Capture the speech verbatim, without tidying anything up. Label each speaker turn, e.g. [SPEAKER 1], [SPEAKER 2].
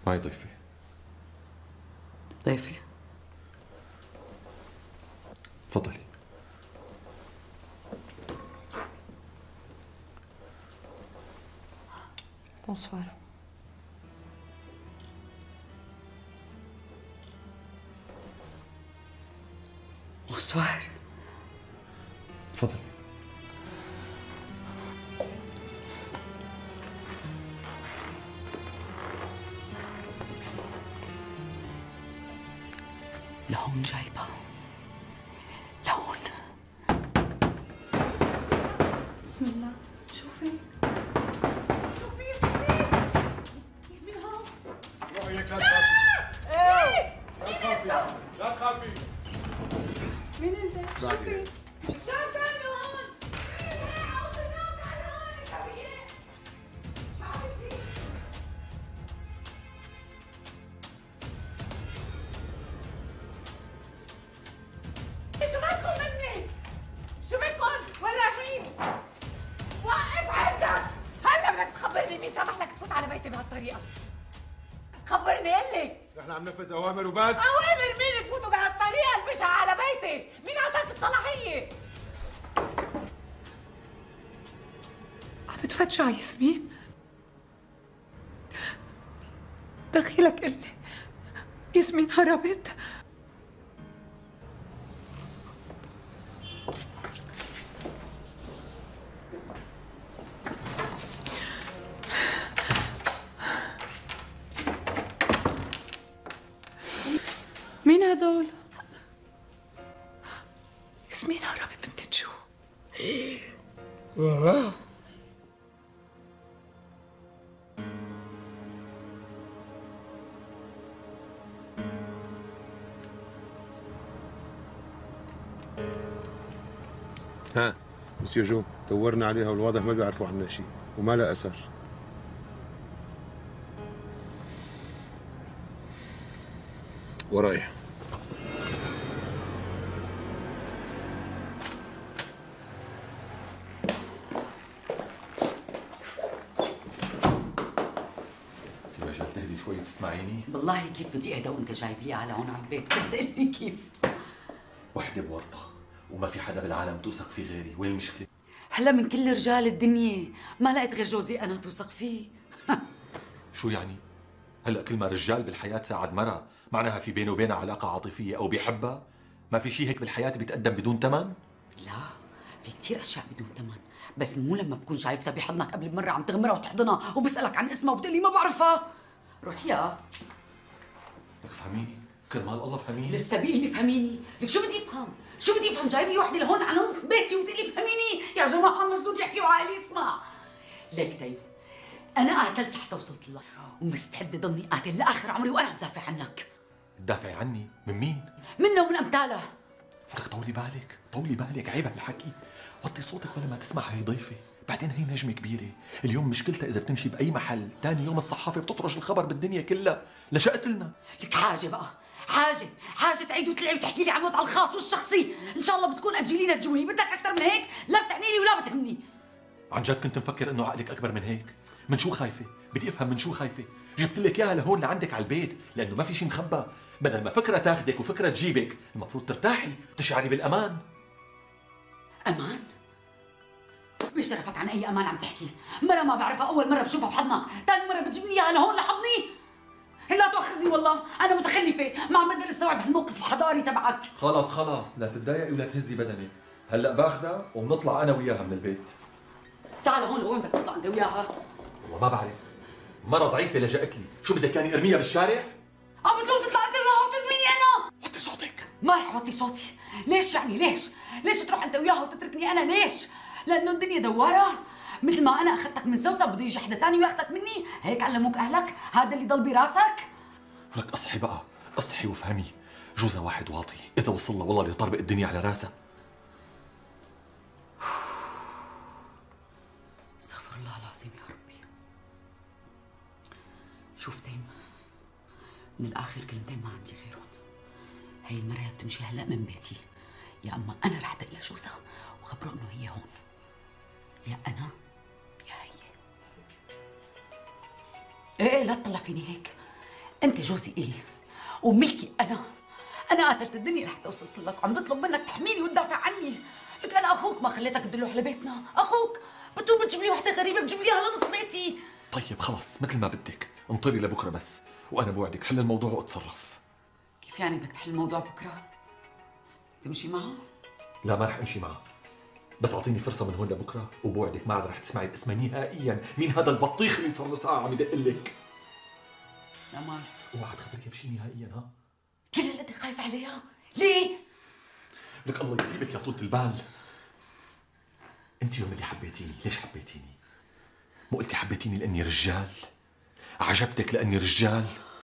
[SPEAKER 1] معي ضيفة.
[SPEAKER 2] ضيفة؟
[SPEAKER 1] تفضلي.
[SPEAKER 3] بونسوار.
[SPEAKER 2] بونسوار.
[SPEAKER 1] تفضلي.
[SPEAKER 2] لهون جايبة، لهون.
[SPEAKER 3] بسم الله. شوفي شوفي شوفي مين هون؟
[SPEAKER 4] روحي هيك لا تخافي. ايه لا تخافي لا تخافي.
[SPEAKER 3] مين انت؟ شوفي
[SPEAKER 5] شو بتعملوا هون؟ تعالوا هون شوية. شو عم بيصير؟ شو بدكم مني؟ شو بدكم؟ وين رايحين؟ وقف عندك! هلا بدك تخبرني مين سمح لك تفوت على بيتي بهالطريقة؟ خبرني قلي!
[SPEAKER 4] نحن عم ننفذ اوامر وبس.
[SPEAKER 5] أوامر مين تفوتوا بهالطريقة البشعة على بيتي؟ مين أعطاك الصلاحية؟
[SPEAKER 3] عم بتفتشوا على ياسمين؟ دخيلك قلي ياسمين هربت؟ مين هدول؟ ياسمين هربت من الجو.
[SPEAKER 4] ها مسيو جو، دورنا عليها والواضح ما بيعرفوا عنا شيء وما لها اثر. وراي.
[SPEAKER 1] في مجال تهدي شوي وتسمعيني؟
[SPEAKER 2] والله كيف بدي اهدى وانت جايب لي على هون على البيت؟ بس قل لي كيف.
[SPEAKER 1] وحدة بورطة وما في حدا بالعالم توثق فيه غيري، وين المشكلة؟
[SPEAKER 2] هلا من كل رجال الدنيا ما لقيت غير جوزي انا توثق فيه.
[SPEAKER 1] شو يعني؟ هلا كل ما رجال بالحياة ساعد مرة معناها في بينه وبينها علاقة عاطفية أو بيحبها؟ ما في شيء هيك بالحياة بيتقدم بدون ثمن؟
[SPEAKER 2] لا، في كثير اشياء بدون ثمن، بس مو لما بكون شايفتها بحضنك قبل بمرة عم تغمرها وتحضنها وبسألك عن اسمها وبتقلي ما بعرفها. روح يا
[SPEAKER 1] لك فهميني، كرمال الله فهميني.
[SPEAKER 2] لسه بيقول لي فهميني، لك شو بدي افهم؟ شو بدي افهم؟ جايب لي وحده لهون على نص بيتي وبتقلي فهميني؟ يا جماعه مسدود يحكي وعقلي يسمع. ليك طيب، انا قاتلت حتى وصلت لك ومستعده ضلني قاتل لاخر عمري وانا بدافع عنك.
[SPEAKER 1] تدافعي عني؟ من مين؟
[SPEAKER 2] منه ومن امثاله.
[SPEAKER 1] لك طولي بالك، طولي بالك، عيب هالحكي. وطي صوتك ولا ما تسمع، هي ضيفة، بعدين هي نجمة كبيرة، اليوم مشكلتها إذا بتمشي بأي محل، تاني يوم الصحافة بتطرش الخبر بالدنيا كلها، لشقت لنا.
[SPEAKER 2] لك حاجة بقى، حاجة، حاجة تعيد وتلعب وتحكي لي عن وضع الخاص والشخصي، إن شاء الله بتكون أنجلينا جولي، بدك أكثر من هيك؟ لا بتعني لي ولا بتهمني.
[SPEAKER 1] عن جد كنت مفكر إنه عقلك أكبر من هيك؟ من شو خايفة؟ بدي أفهم من شو خايفة؟ جبت لك إياها لهون لعندك على البيت، لأنه ما في شيء مخبى، بدل ما فكرة تاخذك وفكرة تجيبك، المفروض ترتاحي وتشعري بالأمان.
[SPEAKER 2] أمان؟ بشرفك عن أي أمان عم تحكي؟ مرة ما بعرفها، أول مرة بشوفها بحضنك، ثاني مرة بتجيبني إياها لهون لحضني؟ لا تؤاخذني والله، أنا متخلفة، ما عم بقدر استوعب هالموقف الحضاري تبعك.
[SPEAKER 1] خلاص خلاص، لا تتضايقي ولا تهزي بدنك، هلا باخذها وبنطلع أنا وياها من البيت.
[SPEAKER 2] تعال هون، وين بدك تطلع أنت وياها؟
[SPEAKER 1] والله ما بعرف، مرة ضعيفة لجأت لي، شو بدك كاني ارميها بالشارع؟
[SPEAKER 2] عم بتقول تطلع أنت وياها وترميني أنا؟
[SPEAKER 1] وطي صوتك.
[SPEAKER 2] ما رح وطي صوتي، ليش يعني ليش؟ ليش تروح أنت وياها وتتركني أنا ليش؟ لأنه الدنيا دوارة؟ مثل ما أنا أخذتك من سوسة بده يجي حدا ثاني وياخذك مني، هيك علموك أهلك؟ هذا اللي ضل براسك؟
[SPEAKER 1] لك اصحي بقى، اصحي وافهمي، جوزها واحد واطي، إذا وصل له والله ليطربق الدنيا على راسها.
[SPEAKER 2] استغفر الله العظيم يا ربي. شوف تيم، من الآخر كلمتين ما عندي غيرهم. هي المرة يا بتمشي هلا من بيتي، يا أما أنا رح دق لجوزها وخبره إنه هي هون، يا أنا يا هي. إيه إيه لا تطلع فيني هيك، انت جوزي الي وملكي انا. انا قاتلت الدنيا لحتى وصلت لك، وعم بطلب منك تحميني وتدافع عني. لك انا اخوك، ما خليتك تدلوح لبيتنا. اخوك بتقوم بتجيب لي وحده غريبه بتجيب لي على نص بيتي.
[SPEAKER 1] طيب خلص مثل ما بدك، انطري لبكره بس، وانا بوعدك حل الموضوع واتصرف.
[SPEAKER 2] كيف يعني بدك تحل الموضوع بكره؟ تمشي معه؟
[SPEAKER 1] لا ما رح امشي معه، بس اعطيني فرصه من هون لبكره وبوعدك ما عاد رح تسمعي باسمها نهائيا. مين هذا البطيخ اللي صار له ساعه عم يدق لك؟
[SPEAKER 2] لا ما
[SPEAKER 1] اوعى تخبرك بشيء نهائيا. ها
[SPEAKER 2] كل اللي انت خايف عليها ليه؟
[SPEAKER 1] لك الله يجيبك يا طولة البال. انت يوم اللي حبيتيني ليش حبيتيني؟ مو قلتي حبيتيني لاني رجال؟ عجبتك لاني رجال؟